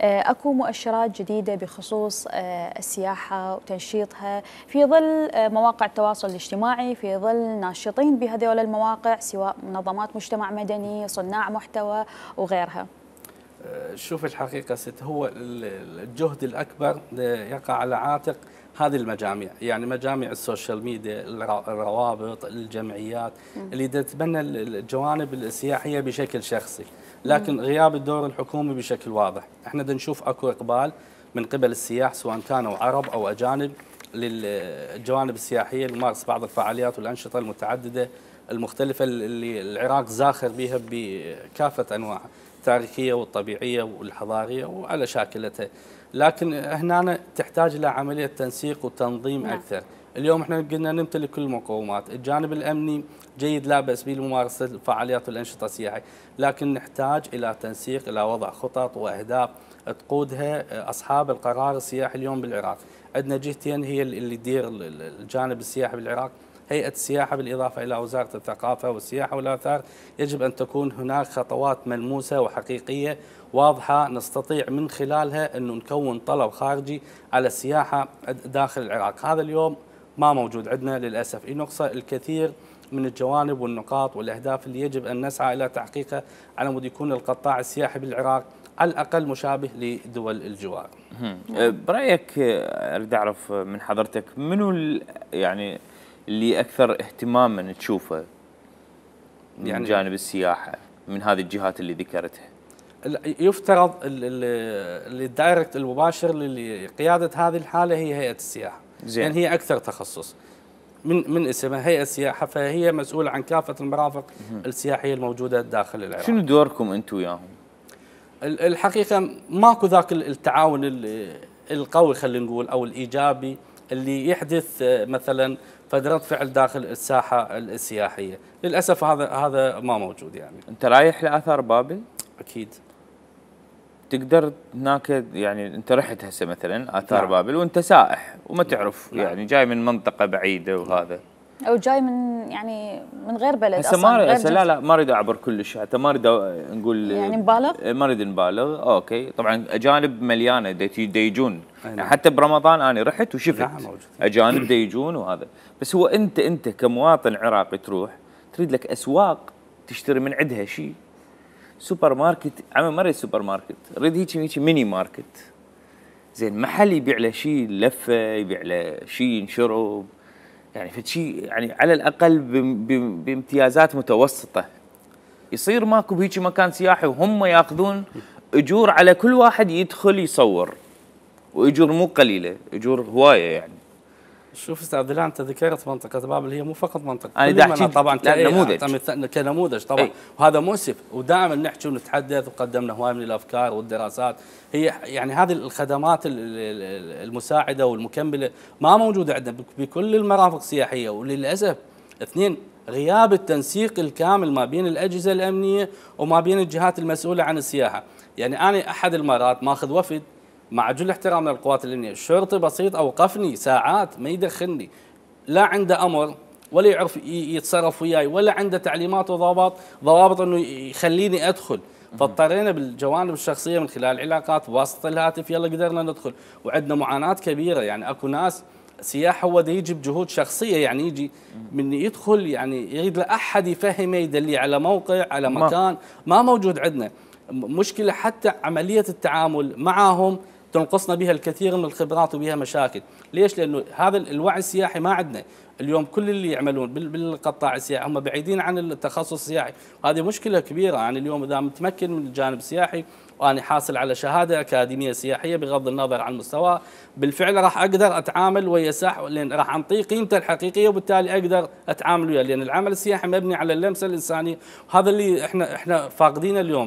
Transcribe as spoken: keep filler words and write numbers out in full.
اكو مؤشرات جديده بخصوص السياحه وتنشيطها في ظل مواقع التواصل الاجتماعي، في ظل ناشطين بهذول المواقع سواء منظمات مجتمع مدني، صناع محتوى وغيرها. شوف الحقيقه ست، هو الجهد الاكبر يقع على عاتق هذه المجاميع، يعني مجاميع السوشيال ميديا، الروابط، الجمعيات اللي تتبنى الجوانب السياحيه بشكل شخصي، لكن غياب الدور الحكومي بشكل واضح. احنا بدنا نشوف اكو اقبال من قبل السياح سواء كانوا عرب او اجانب للجوانب السياحيه لممارسه بعض الفعاليات والانشطه المتعدده المختلفه اللي العراق زاخر بها بكافه انواعها، التاريخيه والطبيعيه والحضاريه وعلى شاكلتها. لكن هنا تحتاج الى عمليه تنسيق وتنظيم نعم. اكثر. اليوم احنا قلنا نمتلك كل المقومات، الجانب الامني جيد لا باس به لممارسه الفعاليات والانشطه السياحيه، لكن نحتاج الى تنسيق، الى وضع خطط واهداف تقودها اصحاب القرار السياحي اليوم بالعراق. عندنا جهتين هي اللي تدير الجانب السياحي بالعراق، هيئة السياحة بالإضافة إلى وزارة الثقافة والسياحة والآثار. يجب أن تكون هناك خطوات ملموسة وحقيقية واضحة نستطيع من خلالها أن نكون طلب خارجي على السياحة داخل العراق. هذا اليوم ما موجود عندنا للأسف، ينقص الكثير من الجوانب والنقاط والأهداف اللي يجب أن نسعى إلى تحقيقها على مود يكون القطاع السياحي بالعراق على الأقل مشابه لدول الجوار. برأيك أريد أعرف من حضرتك منو يعني اللي أكثر اهتماما تشوفه من يعني جانب السياحة من هذه الجهات اللي ذكرتها؟ يفترض الدايركت المباشر لقيادة هذه الحالة هي هيئة السياحة، زين. يعني هي أكثر تخصص من من اسمها هيئة السياحة، فهي مسؤولة عن كافة المرافق مه. السياحية الموجودة داخل العراق. شنو دوركم أنتم وياهم؟ الحقيقة ماكو ذاك التعاون القوي خلينا نقول أو الإيجابي اللي يحدث مثلا فدرة فعل داخل الساحة السياحية، للأسف هذا هذا ما موجود. يعني أنت رايح لآثار بابل؟ أكيد. تقدر هناك يعني أنت رحت هسه مثلا آثار نعم. بابل وأنت سائح وما تعرف نعم. يعني جاي من منطقة بعيدة وهذا او جاي من يعني من غير بلد هسه ما هسه لا لا ما اريد اعبر كلش، حتى ما اريد نقول يعني نبالغ، ما اريد نبالغ. اوكي طبعا اجانب مليانه دا يجون يعني حتى برمضان انا رحت وشفت نعم اجانب دا يجون وهذا، بس هو انت انت كمواطن عراقي تروح تريد لك اسواق تشتري من عندها شيء، سوبر ماركت عمي ما اريد سوبر ماركت، اريد هيك هيك ميني ماركت، زين محل يبيع له شيء لفه، يبيع له شيء ينشرب، يعني فشي يعني على الاقل بامتيازات متوسطه، يصير ماكو بهيك مكان سياحي وهم ياخذون اجور على كل واحد يدخل يصور، واجور مو قليله، اجور هوايه يعني. شوف استاذ دلال انت ذكرت منطقه بابل، هي مو فقط منطقه، انا دا احكي طبعا نموذج كنموذج طبعا اي. وهذا مؤسف، ودائما نحكي ونتحدث وقدمنا هواي من الافكار والدراسات، هي يعني هذه الخدمات المساعده والمكمله ما موجوده عندنا بكل المرافق السياحيه، وللاسف اثنين غياب التنسيق الكامل ما بين الاجهزه الامنيه وما بين الجهات المسؤوله عن السياحه. يعني انا احد المرات ماخذ وفد مع جل احترام للقوات الامنيه، الشرطي بسيط اوقفني ساعات ما يدخلني، لا عنده امر ولا يعرف يتصرف وياي ولا عنده تعليمات وضوابط ضوابط انه يخليني ادخل، فاضطرينا بالجوانب الشخصيه من خلال العلاقات بواسطه الهاتف يلا قدرنا ندخل، وعندنا معاناه كبيره. يعني اكو ناس سياح هو دا يجي بجهود شخصيه، يعني يجي من يدخل يعني يريد له احد يفهمه يدلي على موقع على مكان ما موجود عندنا. مشكله حتى عمليه التعامل معهم تنقصنا بها الكثير من الخبرات وبها مشاكل. ليش؟ لانه هذا الوعي السياحي ما عندنا. اليوم كل اللي يعملون بالقطاع السياحي هم بعيدين عن التخصص السياحي، وهذه مشكله كبيره. يعني اليوم اذا متمكن من الجانب السياحي وانا حاصل على شهاده اكاديميه سياحيه بغض النظر عن المستوى، بالفعل راح اقدر اتعامل ويا سائح، لان راح انطيه قيمته الحقيقيه وبالتالي اقدر اتعامل وياه، لان العمل السياحي مبني على اللمسه الانسانيه، وهذا اللي احنا احنا فاقدينه اليوم.